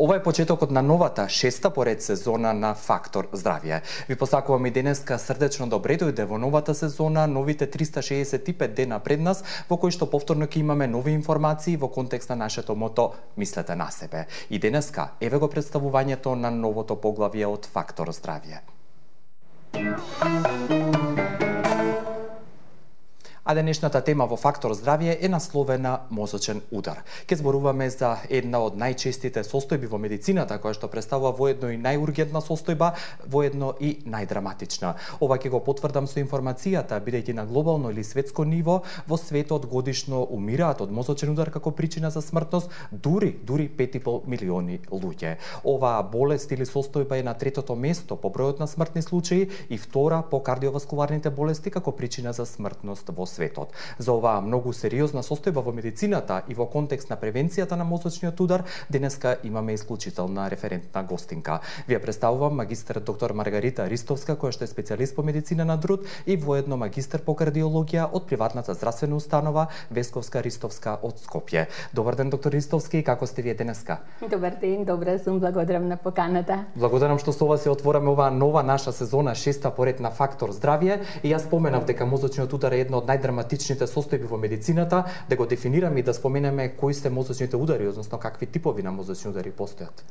Ова е почетокот на новата 6-та поред сезона на Фактор здравје. Ви посакувам и денеска срдечно добре дојде во новата сезона, новите 365 дена пред нас, во кои што повторно ќе имаме нови информации во контекст на нашето мото "Мислете на себе". И денеска еве го представувањето на новото поглавје од Фактор здравје. А денешната тема во Фактор здравје е насловена мозочен удар. Ке зборуваме за една од најчестите состојби во медицината, која што представува воедно и најургентна состојба, воедно и најдраматична. Ова ќе го потврдам со информацијата, бидејќи на глобално или светско ниво во светот годишно умираат од мозочен удар како причина за смртност дури 5,5 милиони луѓе. Оваа болест или состојба е на третото место по бројот на смртни случаи и втора по кардиоваскуларните болести како причина за смртност во светот. За оваа многу сериозна состојба во медицината и во контекст на превенцијата на мозочниот удар, денеска имаме исклучителна референтна гостинка. Ви ја представувам магистер доктор Маргарита Ристовска, која што е специјалист по медицина на труд и воедно магистер по кардиологија од приватната здравствена установа Весковска Ристовска од Скопје. Добар ден, доктор Ристовски, како сте вие денеска? Добар ден, добра сум, благодарам на поканата. Благодарам што со ова се отвораме оваа нова наша сезона 6-та поред на Фактор здравје и јас споменав дека мозочниот удар е една од најдраматичните состојби во медицината, да го дефинираме и да споменеме кои се мозочните удари, односно какви типови на мозочни удари постојат.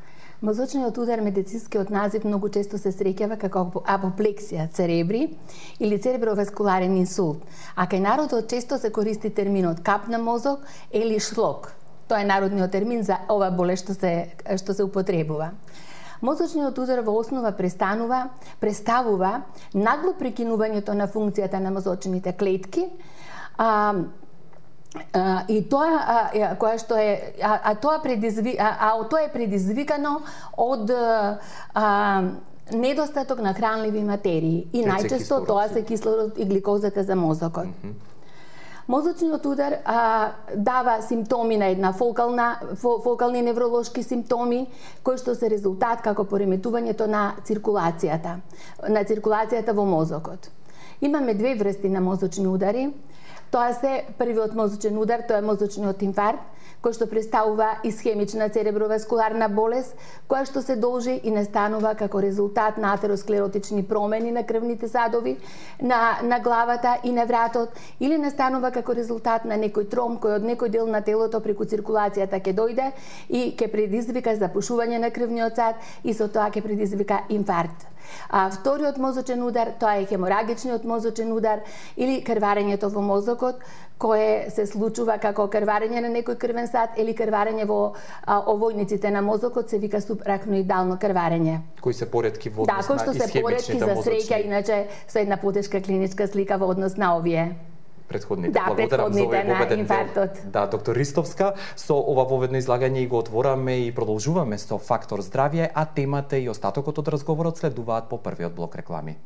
Мозочниот удар, медицинскиот назив, многу често се среќава како апоплексија церебри или цереброваскуларен инсулт, а кај народот често се користи терминот кап на мозок или шлок. Тоа е народниот термин за ова болест што се употребува. Мозочниот удар во основа представува нагло прекинувањето на функцијата на мозочните клетки, и тоа тоа е предизвикано од недостаток на хранливи материи и најчесто тоа се кислород и гликозата за мозокот. Мозочниот удар дава симптоми на една фокални невролошки симптоми, кои што се резултат како пореметувањето на циркулацијата во мозокот. Имаме две врсти на мозочни удари. Тоа се првиот мозочен удар, тоа е мозочниот инфаркт, кој што представува исхемична цереброваскуларна болест, која што се должи и настанува како резултат на атеросклеротични промени на крвните садови на главата и на вратот, или настанува како резултат на некој тромб кој од некој дел на телото преку циркулацијата ќе дојде и ќе предизвика запушување на крвниот сад и со тоа ќе предизвика инфаркт. А вториот мозочен удар, тоа е хеморагичниот мозочен удар или крварењето во мозокот, кое се случува како крварење на некој крвен сад или крварење во овојниците на мозокот, се вика субарахноидално крварење. Кои се поретки во однос на кои што се поретки за среќа, иначе со една потешка клиничка слика во однос на овие предходните. Благодарам за овој воведен дел. Да, доктор Ристовска, со ова воведно излагање и го отвораме и продолжуваме со Фактор здравје, а темата и остатокот од разговорот следуваат по првиот блок реклами.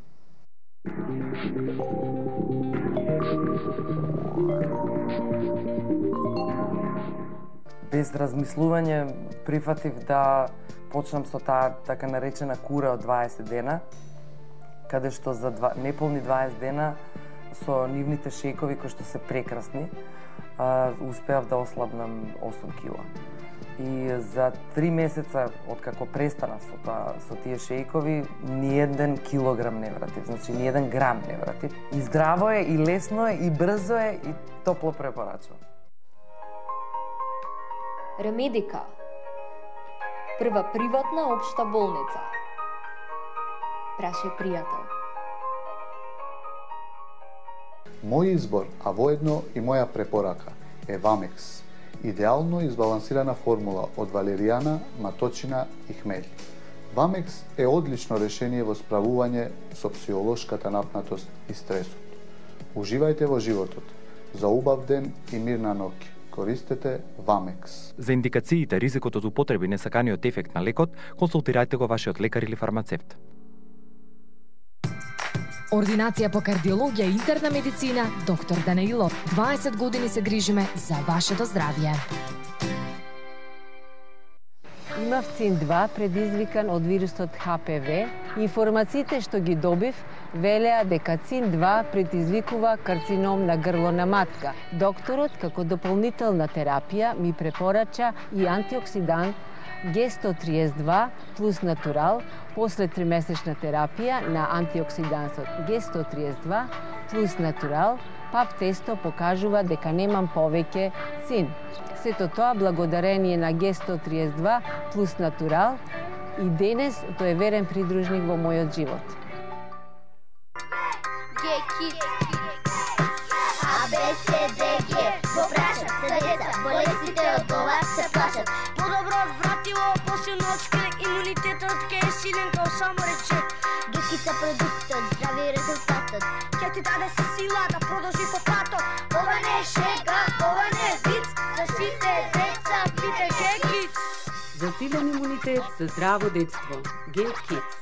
Без размислување прифатив да почнам со таа така наречена кура од 20 дена, каде што за неполни 20 дена со нивните шејкови кои што се прекрасни, успеав да ослабнам 8 кила. И за 3 месеца откако престанав со тие шејкови, ни еден килограм не вратив, значи ни еден грам не вратив. И здраво е, и лесно е, и брзо е, и топло препорачувам. Ремедика. Прва приватна општа болница. Прашај пријател. Мој избор, а воедно и моја препорака, е Вамекс. Идеално избалансирана формула од валеријана, маточина и хмели. Вамекс е одлично решение во справување со психолошката напнатост и стресот. Уживајте во животот. За убав ден и мирна ноќ. Користете Вамекс. За индикациите, ризикот од употреби, несаканиот ефект на лекот, консултирајте го вашиот лекар или фармацевт. Ординација по кардиологија и интерна медицина, доктор Данаилов. 20 години се грижиме за вашето здравје. Имав ЦИН-2 предизвикан од вирусот ХПВ. Информациите што ги добив велеа дека ЦИН-2 предизвикува карцином на грло на матка. Докторот, како дополнителна терапија, ми препорача и антиоксидант Г132 плюс натурал после 3-месечна терапија на антиоксидансот Г132 плюс натурал, ПАП тесто покажува дека немам повеќе цин. Сето тоа благодарение на Г132 плюс натурал и денес тој е верен придружник во мојот живот. ABCDG го прашат се деца, болестите од ова се плашат. Подобро вратило, посилно од имунитетот ке е силен као само речет. Гекица продуктот, здрави резултатот, ке ти даде се сила да продолжи по патот. Ова не е шега, ова не е виц, за сите деца пите Г-Kids. За силен имунитет, за здраво детство. Г-Kids.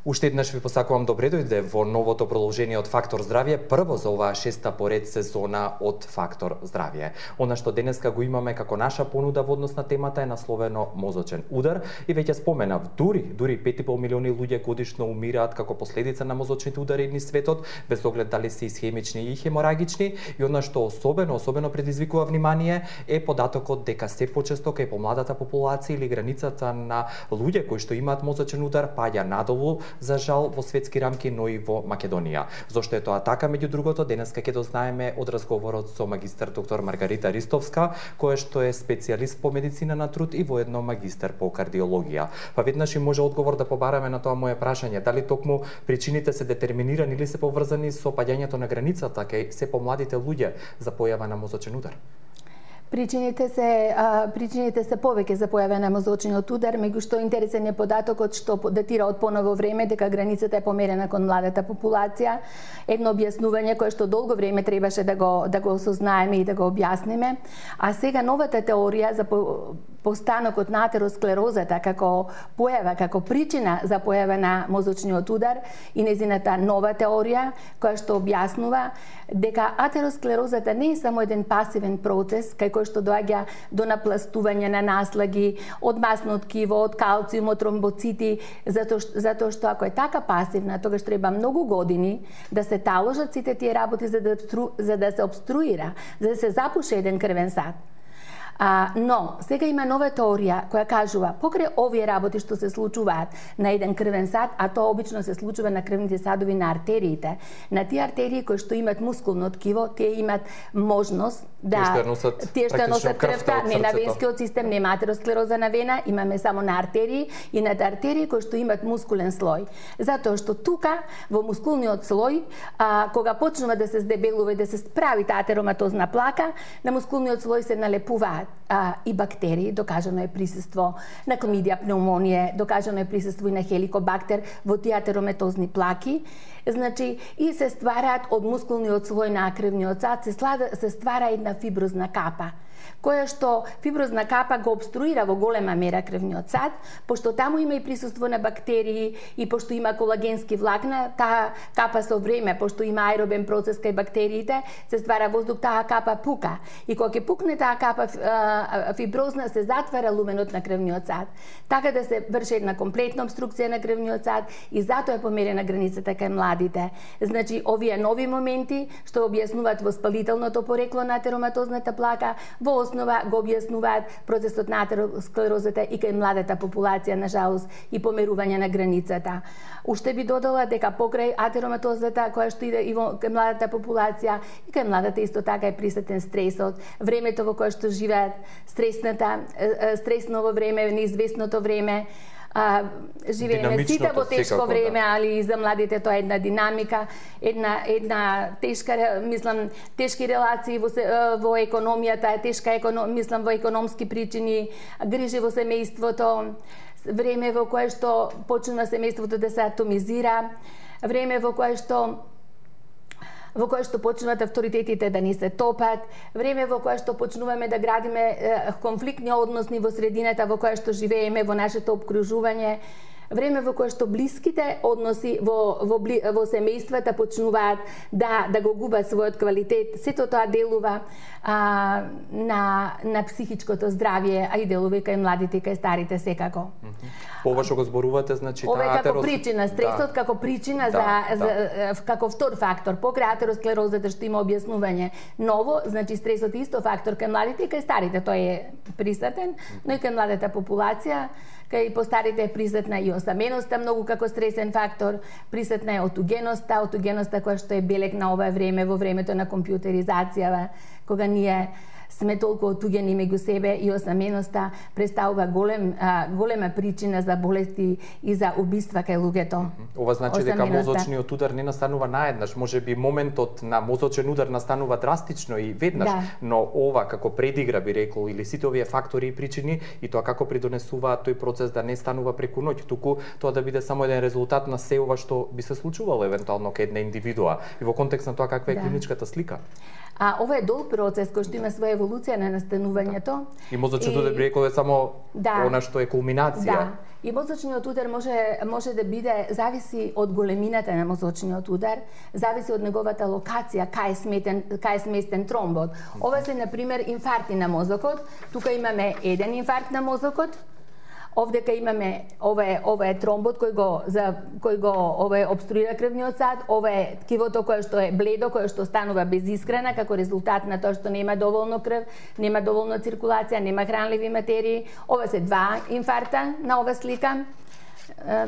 Уште еднаш ви посакувам добре дојде во новото продолжение од Фактор здравје, прво за оваа 6-та поред сезона од Фактор здравје. Она што денеска го имаме како наша понуда во однос на темата е насловено мозочен удар и веќе споменав, дури 5,5 милиони луѓе годишно умираат како последица на мозочните удари низ светот, без оглед дали се исхемични и хеморагични, и она што особено предизвикува внимание е податокот дека се почесто кај помладата популација или границата на луѓе кои што имаат мозочен удар паѓа надолу, за жал во светски рамки, но и во Македонија. Зошто е тоа така, меѓу другото, денеска ќе дознаеме од разговорот со магистар доктор Маргарита Ристовска, која што е специјалист по медицина на труд и воедно магистар по кардиологија. Па веднаш и може одговор да побараме на тоа моје прашање, дали токму причините се детерминирани или се поврзани со паѓањето на границата кај се помладите луѓе за појава на мозочен удар? Причините се повеќе за појава на мозочниот удар, меѓу што интересен е податокот што датира од поново време дека границата е померена кон младата популација. Едно објаснување кое што долго време требаше да го осознаеме и да го објасниме. А сега новата теорија за постанокот на атеросклерозата како појава, како причина за појава на мозочниот удар и незината нова теорија која што објаснува дека атеросклерозата не е само еден пасивен процес кај кој што доаѓа до напластување на наслаги од масно ткиво, од калциум, од тромбоцити, затоа што ако е така пасивна, тогаш треба многу години да се таложат сите тие работи за да се обструира, за да се запуше еден крвен сад. Но сега има нова теорија која кажува покрај овие работи што се случуваат на еден крвен сад, а тоа обично се случува на крвните садови на артериите, на тие артерии кои што имат мускулно ткиво, тие имат можност да тие што носат крвта, не на венскиот систем, нема атеросклероза на вена, имаме само на артерии и на артерии кои што имат мускулен слој. Затоа што тука во мускулниот слој, кога почнува да се здебелува и да се прави таа атероматозна плака, на мускулниот слој се налепуваат и бактерии, докажано е присуство на кламидија, пневмонија, докажано е присуство и на хеликобактер во тие атероматозни плаки. Значи, и се ствараат од мускулниот слој на крвниот сад, се ствара една фиброзна капа, која што фиброзна капа го обструира во голема мера крвниот сад, пошто таму има и присуство на бактерии и пошто има колагенски влакна, таа капа со време, пошто има аеробен процес кај бактериите, се ствара воздух, таа капа пука. И кога ќе пукне таа капа фиброзна, се затвара луменот на крвниот сад. Така да се врши една комплетна обструкција на крвниот сад и затоа е померена границата кај младите. Значи, овие нови моменти што објаснуваат воспалителното порекло на атероматозната плака, во основа го објаснуваат процесот на атеросклерозата и кај младата популација, на жалост, и померување на границата. Уште би додала дека покрај атероматозата која што иде и во кај младата популација, и кај младата исто така е присутен стресот, времето во кое што живеат, стресново време, неизвестното време, живееме сите во тешко време, али и за младите тоа е една динамика, една тешка, тешки релации во економијата, тешка во економски причини, грижи во семејството, време во кое што почнува семејството да се атомизира, време во кое што почнуваат авторитетите да ни се топат, време во кое што почнуваме да градиме конфликтни односи во средината во која што живееме, во нашето опкружување, време во кое што блиските односи во семејствата почнуваат да го губат својот квалитет. Сето тоа делува на психичкото здравје, а и делува и кај младите и кај старите секако. Ова што го зборувате, значи ова е како причина, стресот како причина како втор фактор, покрај атеросклерозата што има објаснување ново, значи стресот е исто фактор кај младите и кај старите, тој е присутен, но и кај младата популација, кај постарите е присутна и осаменоста многу како стресен фактор, присутна е отугеноста која што е белег на ова време, во времето на компјутеризацијава, кога ние сме толку отугени меѓу себе и осаменоста представува голема причина за болести и за убиства кај луѓето. Ова значи дека мозочниот удар не настанува наеднаш, можеби моментот на мозочен удар настанува драстично и веднаш, но ова како предигра би рекол или сите овие фактори и причини и тоа како придонесуваат тој процес да не станува преку ноќ, туку тоа да биде само еден резултат на се ова што би се случувало евентуално кај една индивидуа и во контекст на тоа каква е клиничката слика. Ова е долг процес кој што има своја еволуција на настанувањето. И мозочниот удар би рекол е само она што е кулминација. Да. И мозочниот удар може да биде, зависи од големината на мозочниот удар, зависи од неговата локација, кај е сместен тромбот. Ова се, например, инфаркти на мозокот. Тука имаме еден инфаркт на мозокот. Овдека имаме ова е тромбот кој го обструира крвниот сад, ова е ткивото кое што е бледо, кое што станува без искрена како резултат на тоа што нема доволно крв, нема доволно циркулација, нема хранливи материи. Ова се 2 инфаркта на ова слика.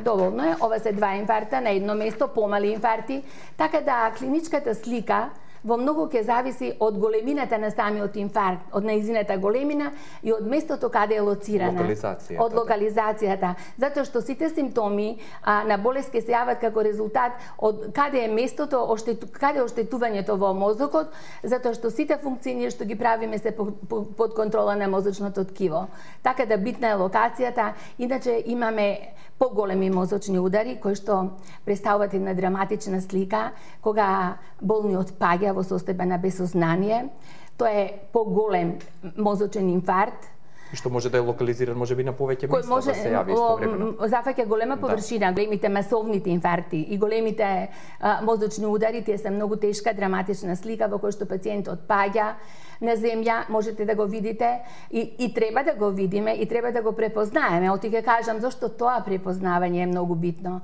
Доволно е, ова се 2 инфаркта на едно место, помали инфаркти, така да клиничката слика во многу ќе зависи од големината на самиот инфаркт, од нејзината големина и од местото каде е лоцирана. Од локализацијата. Затоа што сите симптоми на болест ќе се јават како резултат од каде е местото, каде е оштетувањето во мозокот, затоа што сите функции што ги правиме се под контрола на мозочното ткиво. Така да битна е локацијата, иначе имаме поголеми мозочни удари кои што представуваат една драматична слика кога болниот паѓа во состојба на безсознание. Тоа е поголем мозочен инфаркт. И што може да е локализиран можеби на повеќе места да се јави истовремено. Зафаќа голема површина, големите масовните инфаркти и големите мозочни удари, тие се многу тешка, драматична слика во која што пациентот паѓа на земја, можете да го видите и треба да го видиме и треба да го препознаеме. Оти ќе кажам зашто тоа препознавање е многу битно.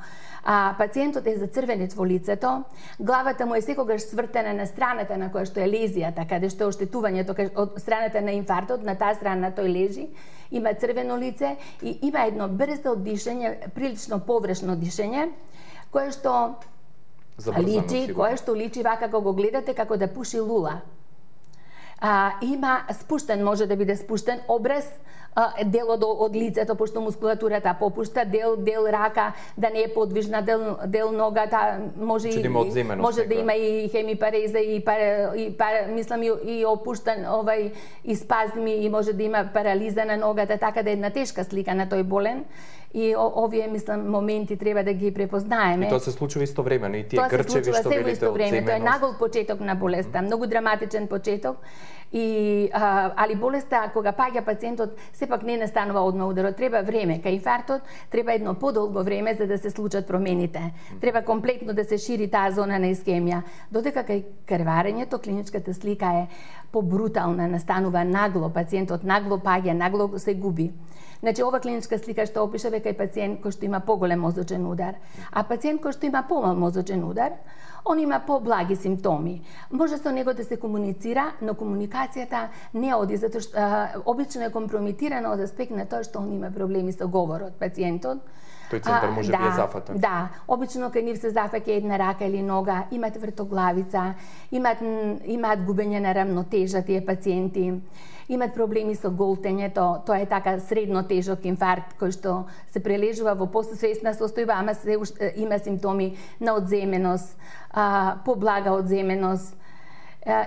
Пациентот е зацрвенет во лицето, главата му е секогаш свртена на страната на која што е лезијата, каде што е оштетувањето од страната на инфарктот, на таа страна тој лежи, има црвено лице и има едно брзо дишење, прилично поврешно дишење, кое што личи вака кога го гледате како да пуши лула. Има спуштен, може да биде спуштен образ, делот од лицето, пошто мускулатурата попушта, дел рака да не е подвижна, дел ногата, може да има и хемипареза мислам и опуштан и спазми и може да има парализа на ногата, така да е една тешка слика на тој болен. И овие, мислам, моменти треба да ги препознаеме. И тоа се случува истовремено, и тие грчеви што велите од земеност. Тоа е нагол почеток на болеста, многу драматичен почеток. Али болеста, кога паѓа пациентот, сепак не настанува одма ударот. Треба време. Кај инфарктот треба едно подолго време за да се случат промените. Треба комплетно да се шири таа зона на искемија. Додека кај крварењето, клиничката слика е побрутална, настанува нагло, пациентот нагло паѓа, нагло се губи. Значи, ова клиничка слика што опишува кај пациент кој што има поголем мозочен удар. А пациент кој што има помал мозочен удар, он има поблаги симптоми. Може со него да се комуницира, но комуникацијата не оди, затоа што обично е компрометирана од аспект на тоа што он има проблеми со говорот, пациентот. Тој центар може би е зафатен. Да, обично кај нив се зафаќа една рака или нога, имаат вртоглавица, имаат губење на рамнотежа тие пациенти, имаат проблеми со голтењето, тоа е така средно тежок инфаркт кој што се прележува во посвесна состојба, ама има симптоми на одземеност, поблага одземеност,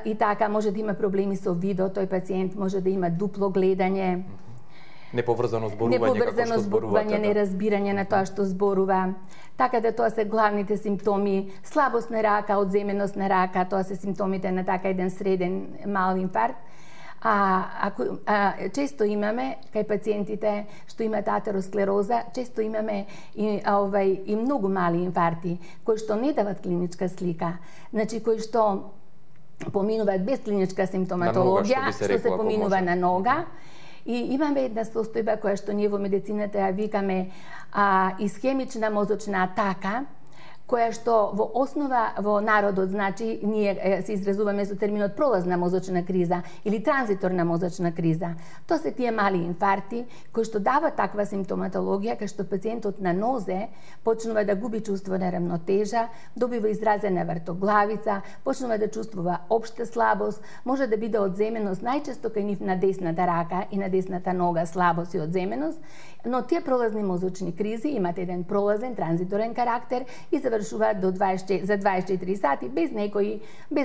и така може да има проблеми со видот, тој пациент може да има дупло гледање, неповрзано зборување, неразбирање на тоа што зборува. Така да тоа се главните симптоми, слабост на рака, одземеност на рака, тоа се симптомите на така еден среден мал инфаркт. Често имаме кај пациентите што имаат атеросклероза, често имаме и многу мали инфаркти кои што не дават клиничка слика, значи кои што поминуваат без клиничка симптоматологија, што се поминува на нога. И имаме една состојба која што ние во медицината ја викаме исхемична мозочна атака, која што во основа во народот, значи, ние се изразуваме со терминот пролазна мозочна криза или транзиторна мозочна криза. Тоа се тие мали инфаркти кои што дават таква симптоматологија, кај што пациентот на нозе почнува да губи чувство на рамнотежа, добива изразена вртоглавица, почнува да чувствува општа слабост, може да биде одземеност најчесто кај нив на десната рака и на десната нога, слабост и одземеност, но тие пролазни мозочни кризи имаат еден пролазен транзиторен карактер и завршуваат за 24 сати без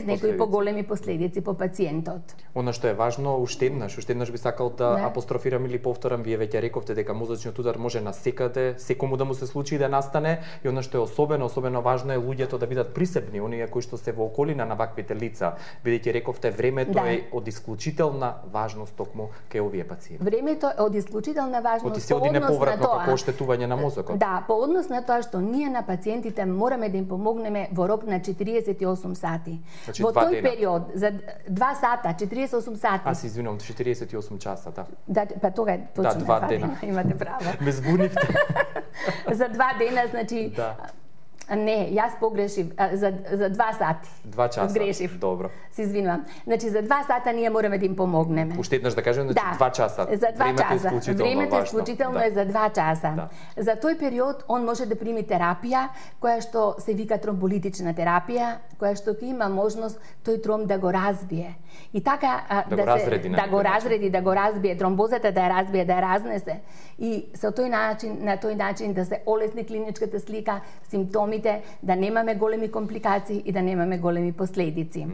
некои поголеми последици по пациентот. Она што е важно, уште еднаш би сакал да апострофирам или повторам, вие веќе рековте дека мозочниот удар може на секаде, секому да му се случи и да настане, и она што е особено важно е луѓето да бидат присебни, оние кои што се во околина на ваквите лица, бидејќи рековте времето е од исклучителна важност токму кај овие пациенти. Времето е од исклучителна важност по однос неповратно како оштетување на мозокот. Да, по однос на тоа што ние на пациентите мораме да им помогнеме во рок на 48 сати. Значи, во тој период, за 2 сата, 48 сати. Аз извинувам, 48 часа, да. Да, па тога е точно. 2 дена. Имате право. Ме збунивте. За 2 дена, значи... Да. Не, јас погрешив, за 2 сати. 2 часа. Сгрешив. Добро. Се извинувам. Значи за 2 сата ние мораме да им помогнеме. Уште еднаш да кажем, значи 2 часа. За 2 часа. Времето е исклучително е за 2 часа. Да. За тој период он може да прими терапија која што се вика тромболитична терапија, која што ќе има можност тој тромб да го разбие. И така да го разбие, тромбозата да ја разбие, да ја разнесе. И со на тој начин да се олесни клиничката слика, симптоми, да немаме големи компликации и да немаме големи последици.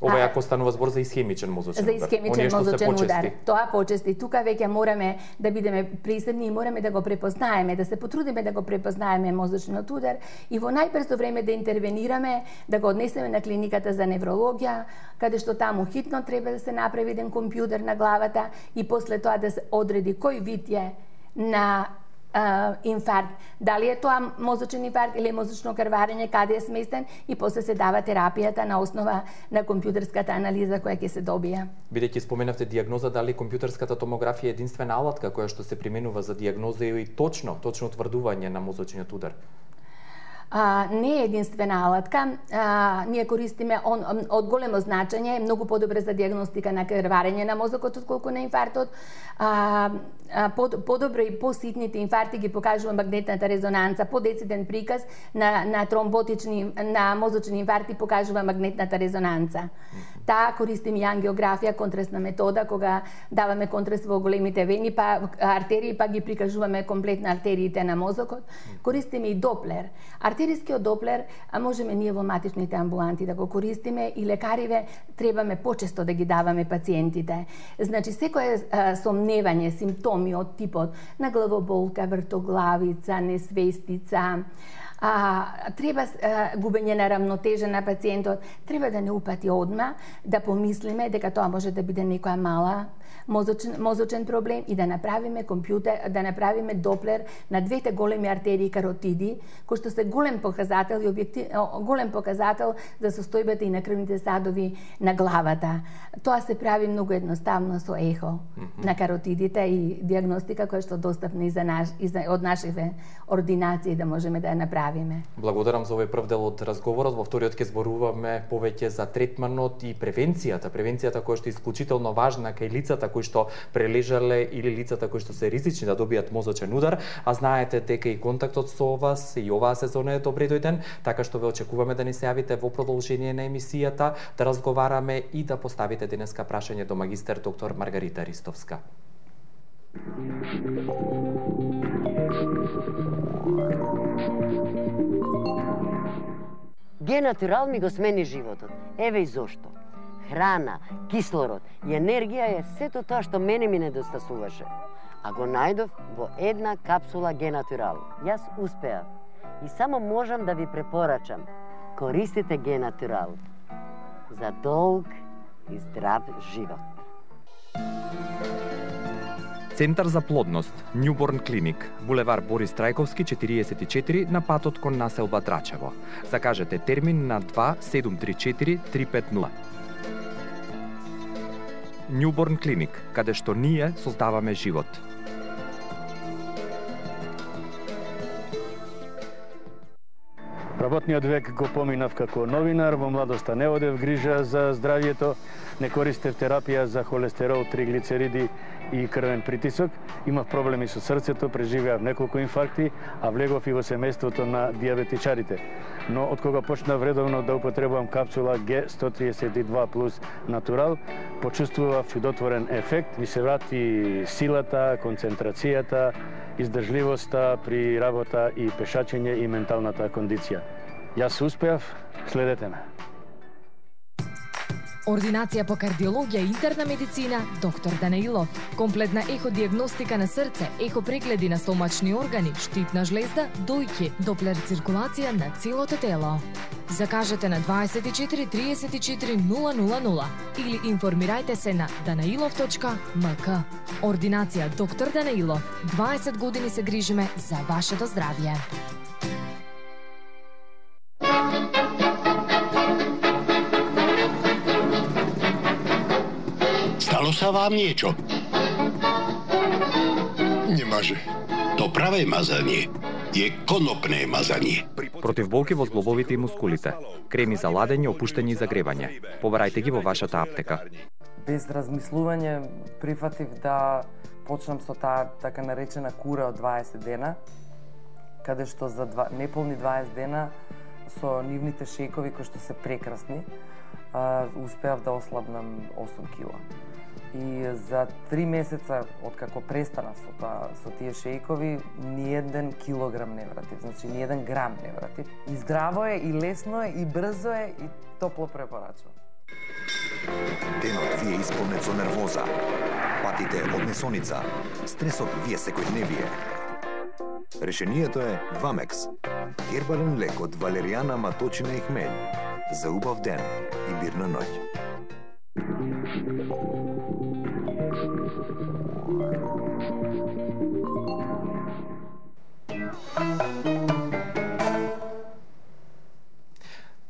Ова ако станува збор за исхемичен мозочен удар. За исхемичен мозочен удар. Тоа почести. Тука веќе мораме да бидеме присебни и мораме да го препознаеме, да се потрудиме да го препознаеме мозочниот удар и во најбрзо време да интервенираме, да го однесеме на клиниката за неврологија, каде што таму хитно треба да се направи еден компјутер на главата и после тоа да се одреди кој вид е на инфаркт, дали е тоа мозочен инфаркт или мозочно крварење, каде е сместен и после се дава терапијата на основа на компјутерската анализа која ќе се добија. Бидејќи споменавте дијагноза, дали компјутерската томографија е единствена алатка која што се применува за дијагноза и точно утврдување на мозочниот удар? Не е единствена алатка. Ние користиме од големо значење, е многу подобре за дијагностика на крварење на мозокот отколку на инфарктот. Подобро и поситните инфаркти ги покажува магнетната резонанца, подециден приказ на тромботични, на мозочни инфаркти покажува магнетната резонанца. Таа користиме и ангиографија, контрастна метода, кога даваме контраст во големите вени, па артерии, па ги прикажуваме комплетно артериите на мозокот. Користиме и доплер. Артерискиот доплер можеме ние во матичните амбуланти да го користиме и лекариве требаме почесто да ги даваме пациентите. Значи, секое сомневање, симптоми од типот на главоболка, вртоглавица, несвестица, треба губење на рамнотежа на пациентот, треба да не упати одма, да помислиме дека тоа може да биде некоја мала мозочен проблем и да направиме компјутер, да направиме доплер на двете големи артерии каротиди, кои што се голем показател за состојбата и на крвните садови на главата. Тоа се прави многу едноставно со ехо на каротидите и дијагностика која што достапна и од нашите ординации да можеме да ја направиме. Благодарам за овој прв дел од разговорот. Во вториот ќе зборуваме повеќе за третманот и превенцијата која што е исклучително важна кај лицата кои што прележале или лицата кои што се ризични да добијат мозочен удар, а знаете дека и контактот со вас и оваа сезона е добре дојден, така што ве очекуваме да ни се јавите во продолжение на емисијата, да разговараме и да поставите денеска прашање до магистер доктор Маргарита Ристовска. Генатурал ми го смени животот. Еве и зошто. Храна, кислород и енергија е сето тоа што мене ми недостасуваше. А го најдов во една капсула Генатурал. Јас успеав. И само можам да ви препорачам. Користите Генатурал за долг и здрав живот. Центар за плодност, Newborn Clinic, булевар Борис Трајковски 44 на патот кон населба Драчево. Закажете термин на 2734 350. Newborn Clinic, каде што ние создаваме живот. Работниот век го поминав како новинар, во младоста не одев грижа за здравјето, не користев терапија за холестерол, триглицериди и крвен притисок, имав проблеми со срцето, преживеав неколку инфаркти, а влегов и во семејството на диабетичарите. Но од кога почнав редовно да употребувам капсула G132 плюс натурал, почувствував чудотворен ефект, ми се врати силата, концентрацијата, издржливоста при работа и пешачење и менталната кондиција. Јас успеав, следете ме. Ординација по кардиологија и интерна медицина, доктор Данаилов. Комплетна еходиагностика на срце, ехопрегледи на стомачни органи, штитна жлезда, дојки, доплер циркулација на целото тело. Закажете на 24 34 000 или информирајте се на danailov.mk. Ординација доктор Данаилов. 20 години се грижиме за вашето здравје. Stalo sa vám niečo? Nemaže. To pravé mazanie je konopné mazanie. Против болки во зглобовите и мускулите. Креми за ладење, опуштење и загревање. Побарајте ги во вашата аптека. Без размислување прифатив да почнам со таа така наречена кура од 20 дена, каде што за неполни 20 дена со нивните шејкови кои што се прекрасни, успеав да ослабнам 8 кила. И за 3 месеца откако престанав со тие шејкови, ни еден килограм не вратив, значи ни еден грам не вратив. И здраво е, и лесно е, и брзо е, и топло препорачувам. Денот ви е исполнет со нервоза, патите од несоница, стресот ви е секојдневие. Решението е Вамекс, хербален лек од валеријана, маточина и хмелј, за убав ден и мирна ноќ.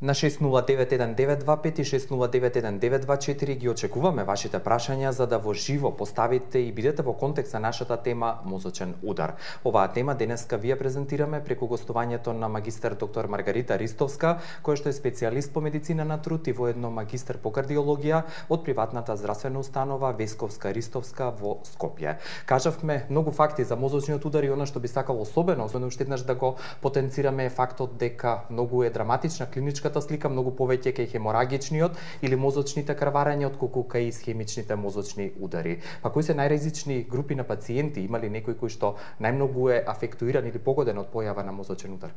На 6091925 и 6091924 ги очекуваме вашите прашања за да во живо поставите и бидете во контекст на нашата тема мозочен удар. Оваа тема денеска вие презентираме преку гостувањето на магистер доктор Маргарита Ристовска, која што е специјалист по медицина на труд и воедно магистер по кардиологија од приватната здравствена установа Весковска Ристовска во Скопје. Кажавме многу факти за мозочниот удар и она што би сакало особено уште еднаш да го потенцираме е фактот дека многу е драматична клиничка слика, многу повеќе кај хеморагичниот или мозочните крварења отколку кај исхемичните мозочни удари. Па кои се најризични групи на пациенти? Има ли некој кој што најмногу е афектуиран или погоден од појава на мозочен удар?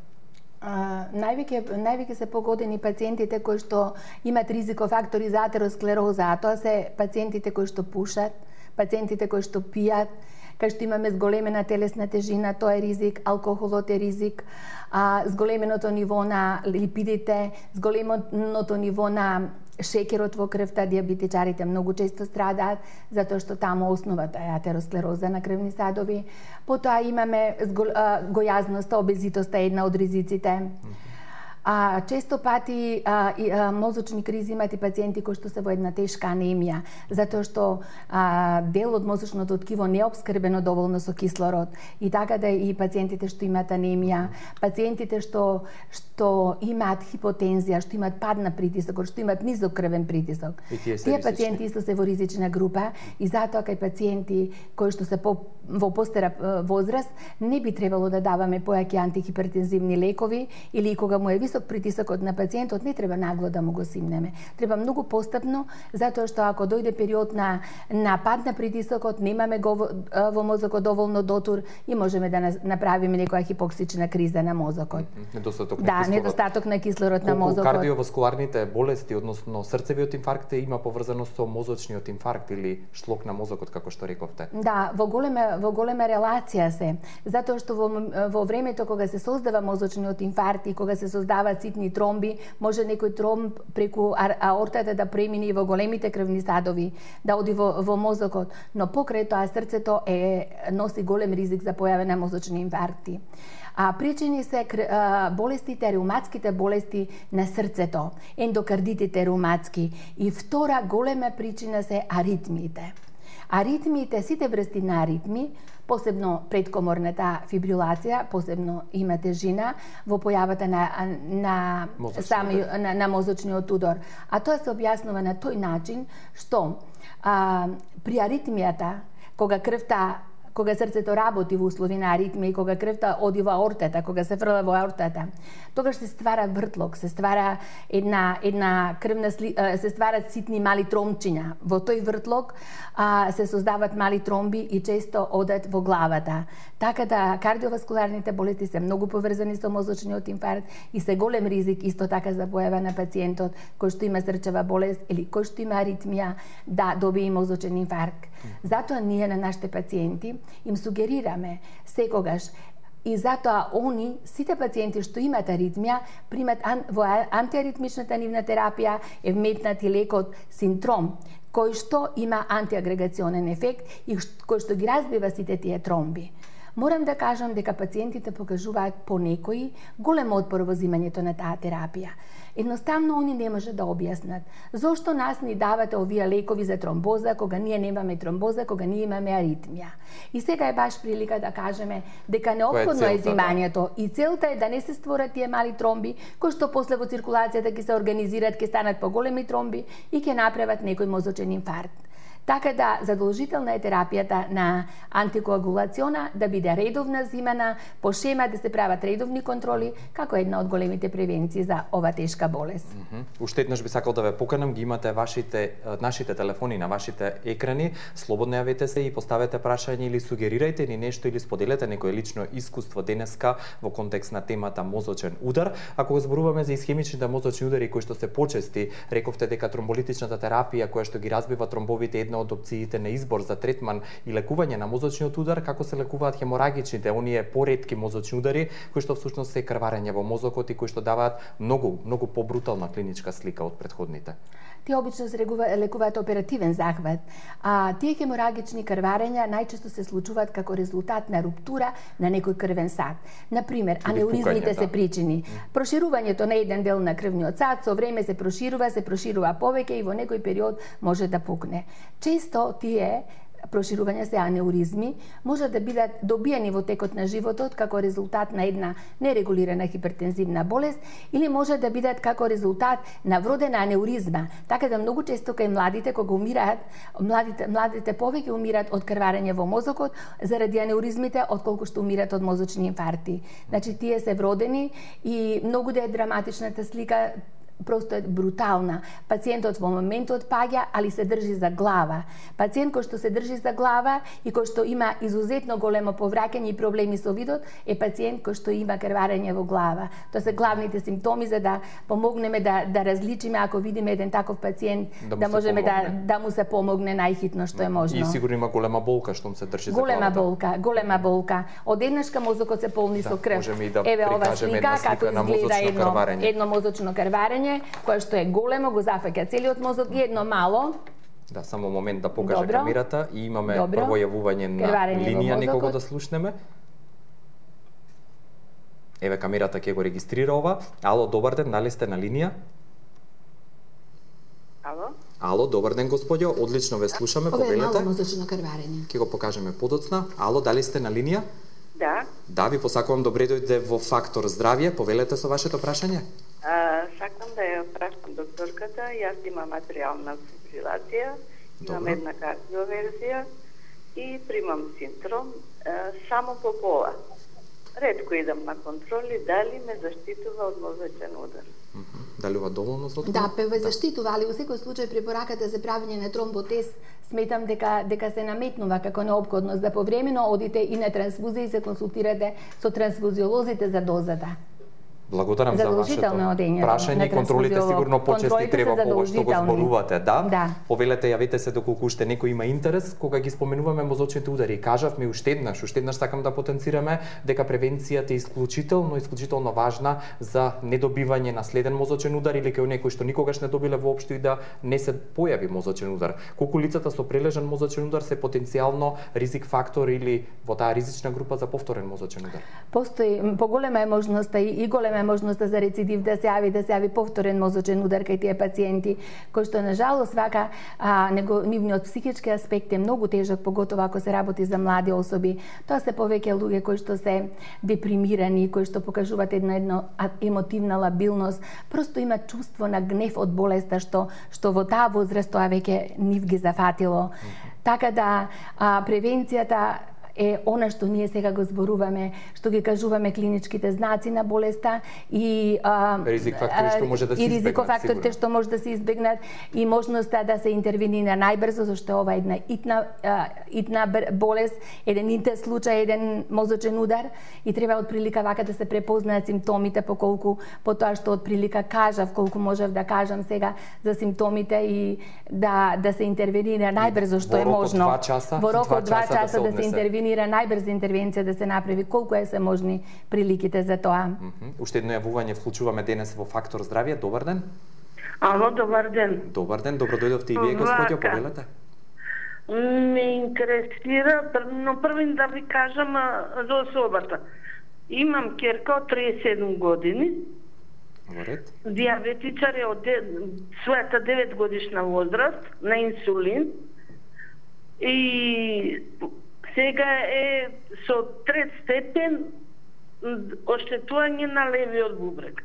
Највеќе се погодени пациентите кои што имат ризикофактори за атеросклероза, а тоа се пациентите кои што пушат, пациентите кои што пијат, кај што имаме зголемена телесна тежина, тоа е ризик, алкохолот е ризик, зголеменото ниво на липидите, зголеменото ниво на шеќерот во крвта, диабетичарите многу често страдаат, затоа што таму основата е атеросклероза на крвни садови. Потоа имаме гојазноста, обезитоста е една од ризиците. Често пати мозочни кризи имат и пациенти кои што се во една тешка анемија, затоа што дел од мозочното ткиво не е обскрбено доволно со кислород. И така да и пациентите што имаат анемија, пациентите што имаат хипотензија, што имаат пад на притисокот, што имаат низок крвен притисок. Тие пациенти исто се во ризична група и затоа кај пациенти кои што се во постара возраст не би требало да даваме појаки антихипертензивни лекови или кога му е висок притисокот на пациентот не треба нагло да му го симнеме. Треба многу постапно, затоа што ако дојде период на пад на притисокот, немаме го во мозокот доволно дотур и можеме да направиме некоја хипоксична криза на мозокот. Недостаток на кислород. Недостаток на кислород на мозокот. Кардиоваскуларните болести, односно срцевиот инфаркт има поврзаност со мозочниот инфаркт или шлок на мозокот, како што рековте. Да, во голема релација се, затоа што во времето кога се создава мозочниот инфаркт и кога се создаваат ситни тромби, може некој тромб преку аортата да премине во големите крвни садови, да оди во мозокот, но покрај тоа срцето носи голем ризик за појава на мозочни инфаркти. Причини се болестите, реуматските болести на срцето, ендокардитите реуматски, и втора голема причина се аритмиите. Аритмиите, сите врсти на аритми, посебно предкоморната фибрилација, посебно има тежина во појавата на мозочниот удор. А тоа се објаснува на тој начин што при аритмијата, кога срцето работи во услови на аритмија и кога крвта оди во аортата, кога се фрла во аортата, тогаш се ствара вртлок, се ствара една крвна се стварат ситни мали тромчиња. Во тој вртлок се создаваат мали тромби и често одат во главата. Така да кардиоваскуларните болести се многу поврзани со мозочниот инфаркт и се голем ризик исто така за појава на пациентот кој што има срчева болест или кој што има аритмија да добие мозочен инфаркт. Затоа ние на нашите пациенти им сугерираме секогаш, и затоа сите пациенти што имаат аритмија, примат во антиаритмичната нивна терапија е вметнат и лекот Синтром, кој што има антиагрегационен ефект и кој што ги разбива сите тие тромби. Морам да кажам дека пациентите покажуваат понекои голем отпор во земањето на таа терапија. Едноставно, они не може да објаснат зошто нас ни давате овие лекови за тромбоза, кога ние немаме тромбоза, кога ние имаме аритмија. И сега е баш прилика да кажеме дека неопходно е земањето и целта е да не се створат тие мали тромби, кои што после во циркулацијата ќе се организираат, ќе станат поголеми тромби и ќе направат некој мозочен инфаркт. Така да задолжителна е терапијата на антикоагулациона да биде редовна зимана, по шема да се прават редовни контроли, како една од големите превенции за ова тешка болест. Уште еднаш би сакал да ве поканам, ги имате нашите телефони на вашите екрани, слободно јавете се и поставете прашање или сугерирајте ни нешто или споделете некое лично искуство денеска во контекст на темата мозочен удар. Ако го зборуваме за исхемичните мозочни удари кои што се почести, рековте дека тромболитичната терапија која што ги разбива тромбовите е од опциите на избор за третман и лекување на мозочниот удар, како се лекуваат хеморагичните, оние поретки мозочни удари, кои што всушност се крварење во мозокот и кои што даваат многу побрутална клиничка слика од претходните. Тие обично се лекуваат оперативен захват, а тие хеморагични крварења најчесто се случуваат како резултат на руптура на некој крвен сад. Например, анеуризмите се причини. Проширувањето на еден дел на крвниот сад со време се проширува повеќе и во некој период може да пукне. Често тие проширувања се анеуризми може да бидат добиени во текот на животот како резултат на една нерегулирана хипертензивна болест или може да бидат како резултат на вродена анеуризма. Така да многу често кај младите кога умираат, младите повеќе умираат од крварење во мозокот заради анеуризмите отколку што умираат од мозочни инфаркти. Значи тие се вродени и многу да е драматичната слика, просто е брутална. Пациентот во моментот паѓа, али се држи за глава. Пациент кој што се држи за глава и кој што има изузетно големо повраќање и проблеми со видот е пациент кој што има крварење во глава. Тоа се главните симптоми за да помогнеме да различиме ако видиме еден таков пациент да можеме да му се помогне најхитно што е можно. И сигурно има голема болка што му се држи за главата. Голема болка. Одеднашка мозокот се полни со крв. Еве ова слика како изгледа едно мозочно крварење кое што е големо, го зафаќа целиот мозок и едно мало. Да, само момент да покаже камерата и имаме прво јавување на линија некого да слушнеме. Еве камерата ќе го регистрира ова. Ало, добар ден, дали сте на линија? Ало, добар ден господјо, одлично ве слушаме, повелете. Ова е мало мозочно крварење. Ќе го покажеме подоцна. Ало, дали сте на линија? Да, ви посакувам добре дојде во Фактор здравје, повелете со вашето прашање. Сакам да ја прашам докторката, јас имам атриална фибрилација, имам една кардиоверзија и примам Синтром само по пола. Ретко идам на контроли, дали ме заштитува од мозочен удар? Дали ова доволно за одговор? Да, ве заштитува, али во секој случај препораката за правење на тромботест сметам дека се наметнува како неопходност да повремено одите и на трансфузија и се консултирате со трансфузиолозите за дозата. Благодарам за вашето прашање. Контролите сигурно почести треба по ова што го зборувате, да? Повелете, јавете се доколку уште некој има интерес. Кога ги споменуваме мозочните удари, кажавме уште еднаш сакам да потенцираме дека превенцијата е исклучително важна за недобивање на следен мозочен удар или кај некој што никогаш не добиле воопшто и да не се појави мозочен удар. Колку лицата со прележан мозочен удар се потенцијално ризик фактор или во таа ризична група за повторен мозочен удар? Постои поголема е можноста и голема е можноста за рецидив да се јави повторен мозочен удар кај тие пациенти, кој што на жалост вака нивниот психички аспект е многу тежок, поготово ако се работи за млади особи. Тоа се повеќе луѓе кои што се депримирани, кои што покажуваат една емотивна лабилност, просто имаат чувство на гнев од болеста што во таа возраст тоа веќе нив ги зафатило. Така да превенцијата е она што ние сега го зборуваме, што ги кажуваме клиничките знаци на болеста и ризикофакторите што може да се избегнат, ризикофакторите што може да се избегнат и можноста да се интервенира најбрзо, зашто ова е една итна болест, еден интен случај, еден мозочен удар и треба отприлика вака да се препознаат симптомите по тоа што отприлика кажав, колку можев да кажам сега за симптомите и да се интервенира најбрзо што е можно. Во рок од 2 часа да се интервенира најбрза интервенција да се направи, колку е се можни приликите за тоа. Уште едно јавување вклучуваме денес во Фактор здравје. Добар ден. Ало, добар ден. Добар ден, добро дојдовте и вие, господјо, повелете. Ме интересира, но првин да ви кажам за особата. Имам керка од 37 години. Диабетичар е од својата 9 годишна возраст, на инсулин. И сега е со 3 степен оштетување на левиот бубрек.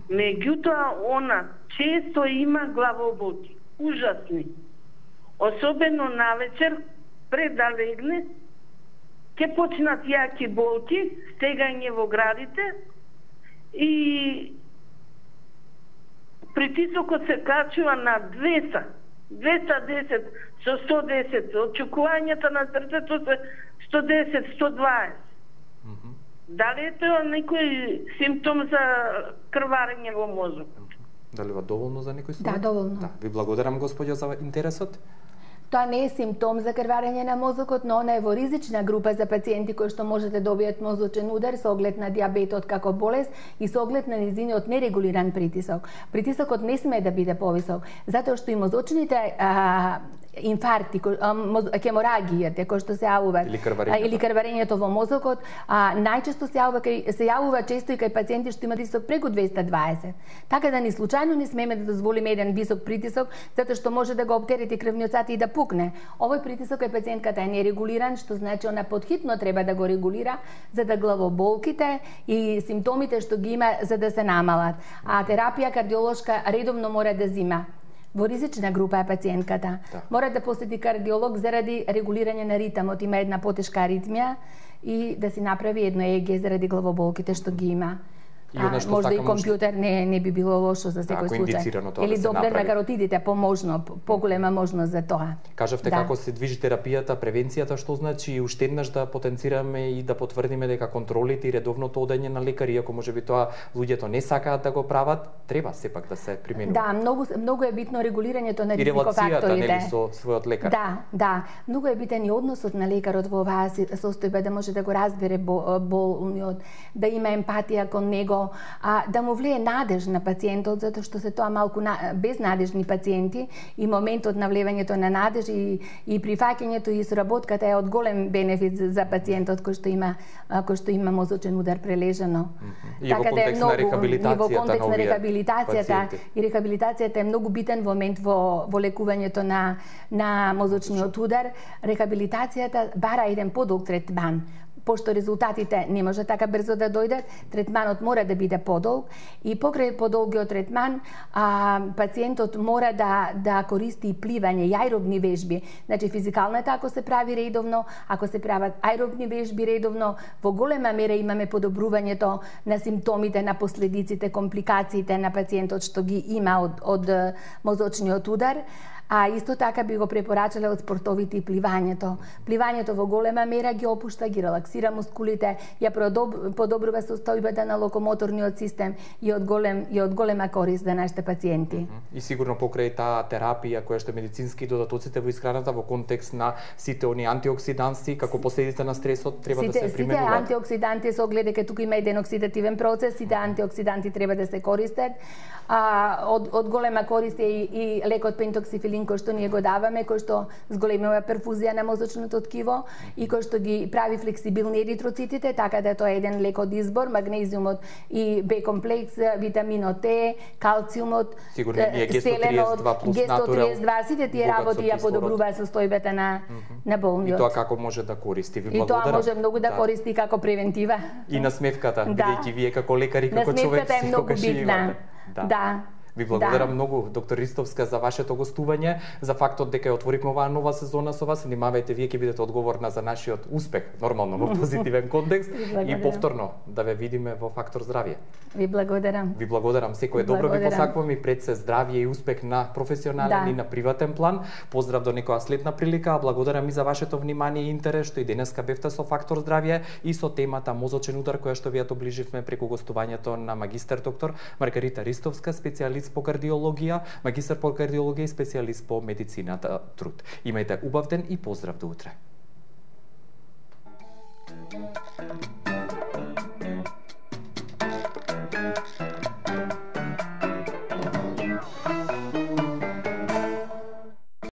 Меѓутоа, она често има главоболки, ужасни. Особено навечер, пред да легне, ќе почнат јаки болки, стегање во градите и притисокот се качува на 210 со 110, очекувањата на срцето се 110, 120. Дали е тоа некој симптом за крварење во мозокот? Дали е доволно за некој случај? Да, доволно. Да, ви благодарам, господјо, за интересот. Тоа не е симптом за крварење на мозокот, но она е во ризична група за пациенти кои што може да добијат мозочен удар со оглед на диабетот како болест и со оглед на низиниот нерегулиран притисок. Притисокот не смее да биде повисок, затоа што и мозочните инфаркти, хеморагијата кои што се јавуваат или крварењето во мозокот, најчесто се јавува често и кај пациенти што имаат притисок преку 220. Така да ни случајно не смееме да дозволиме еден висок притисок, затоа што може да го оптерети крвниот сат и да пукне. Овој притисок кај пациентката е нерегулиран, што значи она потхитно треба да го регулира за да главоболките и симптомите што ги има за да се намалат. А терапија кардиолошка редовно мора да зима. Во ризична група е пациентката. Мора да посети кардиолог заради регулирање на ритмот, има една потешка аритмија и да си направи едно ЕГ заради главоболките што ги има. Можда и компјутер не би било лошо за секој случај. Или доплер на каротидите, поголема можност за тоа. Кажавте како се движи терапијата, превенцијата, што значи и уште еднаш да потенцираме и да потврдиме дека контролите и редовното одење на лекари, иако можеби тоа луѓето не сакаат да го прават, треба сепак да се применува. Да, многу е битно регулирањето на ризикофакторите. И релацијата, нели, со својот лекар. Да, многу е битен и односот на лекарот во оваа состојба, да може да го разбере болниот, да има емпатија кон него, да му влие надеж на пациентот, затоа што се тоа малку безнадежни пациенти и моментот на влевањето на надеж и прифаќањето и соработката е од голем бенефит за пациентот кој што има мозочен удар прележано. И во контекст на рехабилитацијата и рехабилитацијата е многу битен момент во лекувањето на мозочниот удар. Рехабилитацијата бара еден подолг третман. Пошто резултатите не може така брзо да дојдат, третманот мора да биде подолг и покрај подолгиот третман пациентот мора да користи и пливање и аеробни вежби. Значи физикалната ако се прави редовно, ако се прават аеробни вежби редовно, во голема мера имаме подобрувањето на симптомите, на последиците, компликациите на пациентот што ги има од мозочниот удар. А исто така би го препорачале од спортовите и пливањето. Пливањето во голема мера ги опушта, ги релаксира мускулите, ја подобрува состојбата на локомоторниот систем и од голема корист за нашите пациенти. И сигурно покрај таа терапија која што е медицински додатоците во исхраната во контекст на сите они антиоксиданси како последица на стресот треба да се применуваат. Сите антиоксиданти со оглед дека тука има еден оксидативен процес, сите антиоксиданти треба да се користат. Од голема корист е и лекот пентоксифилин кој што ние го даваме, кој што зголемува перфузија на мозочното ткиво и кој што ги прави флексибилни еритроцитите, така да тоа е еден лек од избор, магнезиумот и Б комплекс, витаминот Т, калциумот, селенот, Г132, сите тие работи ја подобруваат состојбата на болниот. И тоа како може да користи? Ви благодарам. И тоа може многу да користи како превентива. И насмевката, бидејќи вие како лекари, како човек, насмевката е многу битна. Да. Ви благодарам многу, доктор Ристовска, за вашето гостување, за фактот дека ја отворивме оваа нова сезона со вас. Внимавајте, вие ќе бидете одговорна за нашиот успех, нормално во позитивен контекст и повторно да ве видиме во Фактор здравје. Ви благодарам. Ви благодарам, секое добро ви посакувам и пред се здравје и успех на професионален и на приватен план. Поздрав до некоја следна прилика, благодарам и за вашето внимание и интерес што и денеска бевте со Фактор здравје и со темата мозочен удар која што ви ја доближивме преку гостувањето на магистер доктор Маргарита Ристовска, специјалист по кардиологија, магистар по кардиологија и специјалист по медицината труд. Имајте убав ден и поздрав до утре.